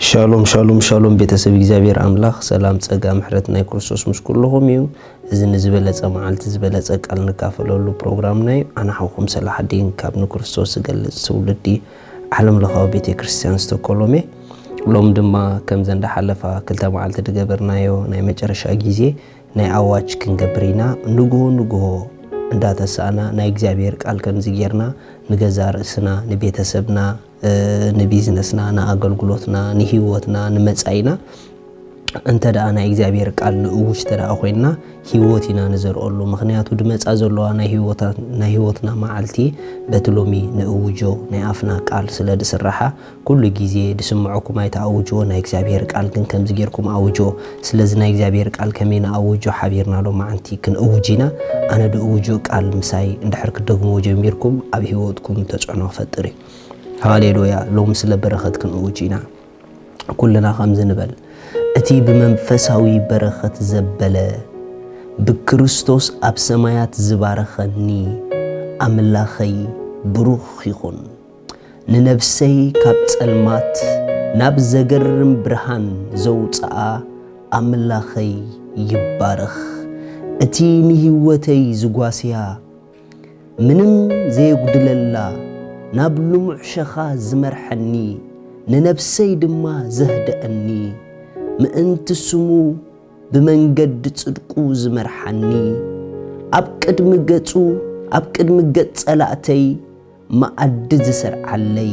ሻሎም ሻሎም ሻሎም፣ ቤተሰብ እግዚኣብሔር ኣምላኽ ሰላም፣ ጸጋ፣ ምሕረት ናይ ክርስቶስ ምስ ኩልኹም እዩ። እዚ ንዝበለጸ መዓልቲ ዝበለጸ ቃል ንካፈለሉ ፕሮግራምና እዩ። ኣነ ሓውኹም ሰላሕ ዲን ካብ ንክርስቶስ ዝገልጽ ትውልዲ ዓለም ለኻዊ ቤተ ክርስቲያን ስቶኮሎም እየ። ሎም ድማ ከምዘን እንዳሓለፋ ክልተ መዓልቲ ዝገበርናዮ ናይ መጨረሻ ግዜ ናይ ኣዋጅ ክንገብር ኢና። ንግሆ ንግሆ እንዳተሳእና ናይ እግዚኣብሔር ቃል ከምዚ ጌርና ንገዛ ርእስና፣ ንቤተሰብና፣ ንቢዝነስና፣ ንኣገልግሎትና፣ ንህይወትና፣ ንመጻኢና እንተ ደኣ ናይ እግዚኣብሔር ቃል ንእውጅ እንተ ደኣ ኮይንና፣ ህይወት ኢና ንዘርኦሉ። ምኽንያቱ ድመጻ ዘለዋ ናይ ህይወትና መዓልቲ በቲ ሎሚ ንእውጆ ናይ ኣፍና ቃል ስለ ድስራሓ፣ ኩሉ ግዜ ድስምዐኩም ኣይትኣውጅዎ፣ ናይ እግዚኣብሔር ቃል ግን ከምዚ ጌርኩም ኣውጅዎ። ስለዚ ናይ እግዚኣብሔር ቃል ከመይ ንኣውጆ ሓቢርና ሎማዓንቲ ክንእውጅ ኢና። ኣነ ድእውጆ ቃል ምሳይ እንድሕር ክደግምዎ ጀሚርኩም ኣብ ህይወትኩም ተጽዕኖ ክፈጥር እዩ። ሃሌሉያ። ሎሚ ስለ በረኸት ክንእውጅ ኢና። ኩልና ከምዚ ንበል፣ እቲ ብመንፈሳዊ በረኸት ዘበለ፣ ብክርስቶስ ኣብ ሰማያት ዝባረኸኒ ኣምላኸይ ብሩኽ ይኹን። ንነብሰይ ካብ ጸልማት ናብ ዘገርም ብርሃን ዘውጽኣ ኣምላኸይ ይባረኽ። እቲ ንህይወተይ ዝጓስያ ምንም ዘየጉድለላ ናብ ልሙዕ ሸኻ ዝመርሐኒ፣ ንነብሰይ ድማ ዘህደአኒ፣ ምእንቲ ስሙ ብመንገዲ ጽድቁ ዝመርሓኒ፣ ኣብ ቅድሚ ገጹ፣ ኣብ ቅድሚ ገጽ ጸላእተይ መኣዲ ዝሰርዓለይ፣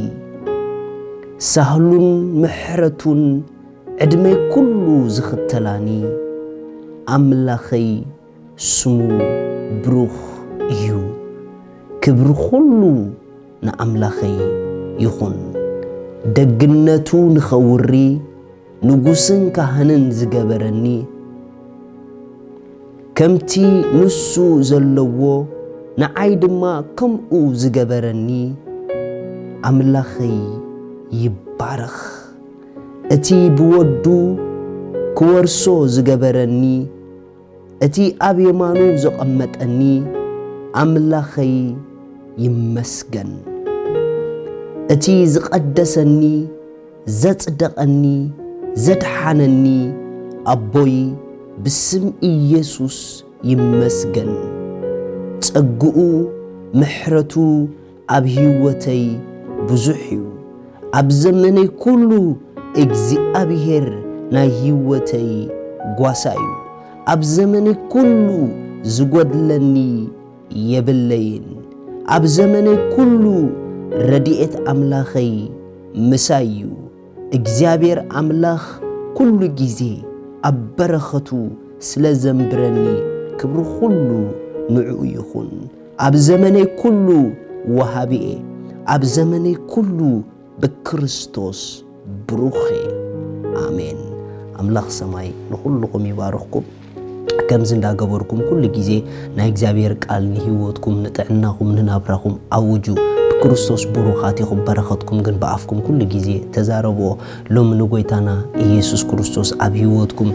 ሳህሉን ምሕረቱን ዕድመይ ኩሉ ዝኽተላኒ፣ ኣምላኸይ ስሙ ብሩኽ እዩ። ክብሪ ኩሉ ንኣምላኸይ ይኹን። ደግነቱ ንኸውሪ ንጉስን ካህንን ዝገበረኒ፣ ከምቲ ንሱ ዘለዎ ንዓይ ድማ ከምኡ ዝገበረኒ ኣምላኸይ ይባረኽ። እቲ ብወዱ ክወርሶ ዝገበረኒ፣ እቲ ኣብ የማኑ ዘቐመጠኒ ኣምላኸይ ይመስገን። እቲ ዝቐደሰኒ፣ ዘጽደቐኒ፣ ዘድሓነኒ ኣቦይ ብስም ኢየሱስ ይመስገን። ጸግኡ፣ ምሕረቱ ኣብ ህይወተይ ብዙሕ እዩ። ኣብ ዘመነይ ኩሉ እግዚኣብሔር ናይ ህይወተይ ጓሳ እዩ። ኣብ ዘመነይ ኩሉ ዝጎድለኒ የብለይን። ኣብ ዘመነይ ኩሉ ረድኤት ኣምላኸይ ምሳይ እዩ። እግዚኣብሔር ኣምላኽ ኩሉ ግዜ ኣብ በረኸቱ ስለ ዘንብረኒ ክብሪ ኩሉ ንዕኡ ይኹን። ኣብ ዘመነይ ኩሉ ወሃቢ እየ። ኣብ ዘመነይ ኩሉ ብክርስቶስ ብሩኽ እየ። ኣሜን። ኣምላኽ ሰማይ ንኹልኹም ይባርኽኩም። ከምዚ እንዳገበርኩም ኩሉ ግዜ ናይ እግዚኣብሔር ቃል ንህይወትኩም፣ ንጥዕናኹም፣ ንናብራኹም ኣውጁ። ብክርስቶስ ብሩኻት ኢኹም። በረኸትኩም ግን ብኣፍኩም ኩሉ ግዜ ተዛረብዎ። ሎሚ ንጎይታና ኢየሱስ ክርስቶስ ኣብ ህይወትኩም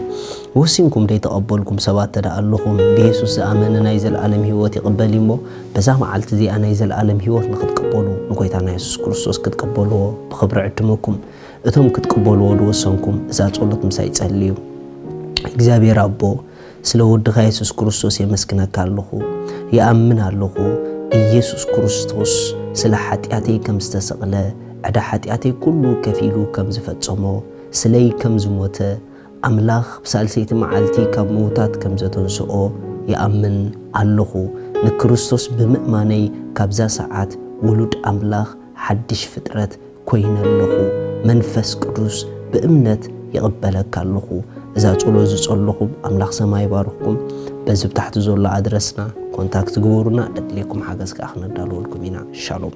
ወሲንኩም ደይተቐበልኩም ሰባት ተደኣ ኣለኹም፣ ብየሱስ ዝኣመነ ናይ ዘለኣለም ህይወት ይቕበል እሞ፣ በዛ መዓልቲ እዚኣ ናይ ዘለኣለም ህይወት ንኽትቅበሉ፣ ንጎይታና የሱስ ክርስቶስ ክትቅበልዎ ብኽብሪ ዕድመኩም። እቶም ክትቅበልዎ ዝወሰንኩም እዛ ጸሎት ምሳይ ጸልዩ። እግዚኣብሔር ኣቦ፣ ስለ ወድኻ የሱስ ክርስቶስ የመስግነካ ኣለኹ። ይኣምን ኣለኹ፣ ኢየሱስ ክርስቶስ ስለ ሓጢኣተይ ከም ዝተሰቕለ፣ ዕዳ ሓጢኣተይ ኩሉ ከፊሉ ከም ዝፈጸሞ፣ ስለይ ከም ዝሞተ፣ ኣምላኽ ብሳልሰይቲ መዓልቲ ካብ ምዉታት ከም ዘተንስኦ ይኣምን ኣለኹ። ንክርስቶስ ብምእማነይ ካብዛ ሰዓት ውሉድ ኣምላኽ፣ ሓድሽ ፍጥረት ኮይነ ኣለኹ። መንፈስ ቅዱስ ብእምነት ይቕበለካ ኣለኹ። እዛ ጸሎት ዝጸለኹም ኣምላኽ ሰማይ ይባርኽኩም። በዚ ብታሕቲ ዘሎ ኣድረስና ኮንታክት ግበሩና፣ ደድልየኩም ሓገዝ ከኣ ክነዳልወልኩም ኢና። ሻሎም።